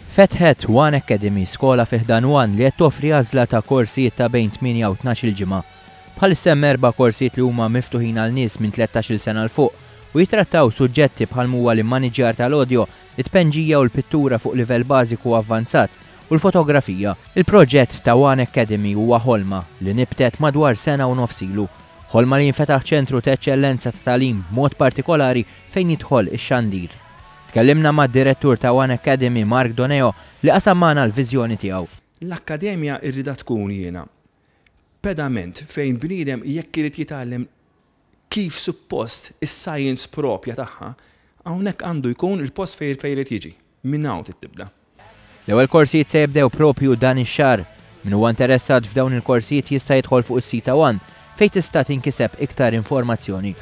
Fetħet One Academy, skola fi ħdan One li qed toffri għażla ta' korsijiet ta' bejn 8 u 12-il ġimgħa. Bħalissa hemm erba' korsijiet li huma miftuħin għal nies minn 13-il sena 'l fuq u jittrattaw suġġetti bħal m'huwa l-immaniġġjar tal-audio, it-tpenġija u l-pittura fuq livell bażiku u avvanzat, u l-fotografija. Il-proġett ta' One Academy huwa ħolma li nibtet madwar sena u nofs ilu. Ħolma li jinfetaħ ċentru ta' eċċellenza ta' tagħlim b'mod partikolari fejn jidħol ix-xandir. Tkellimna mad-Direttur ta' One Academy Mark Doneo li qasam magħna l-viżjoni tiegħu. L-akkademja rridha tkun jiena pedament fejn bniedem jekk irid jitgħallem kif suppost is-science propja tagħha, hawnhekk għandu jkun il-post fejn fejn irid jiġi. Minn hawn trid tibda. L-ewwel korsijiet se jibdew propju dan ix-xahar. Min huwa interessat f'dawn il-korsijiet jista' jidħol fuq is-sit ta' One fejn tista' tinkiseb iktar informazzjoni.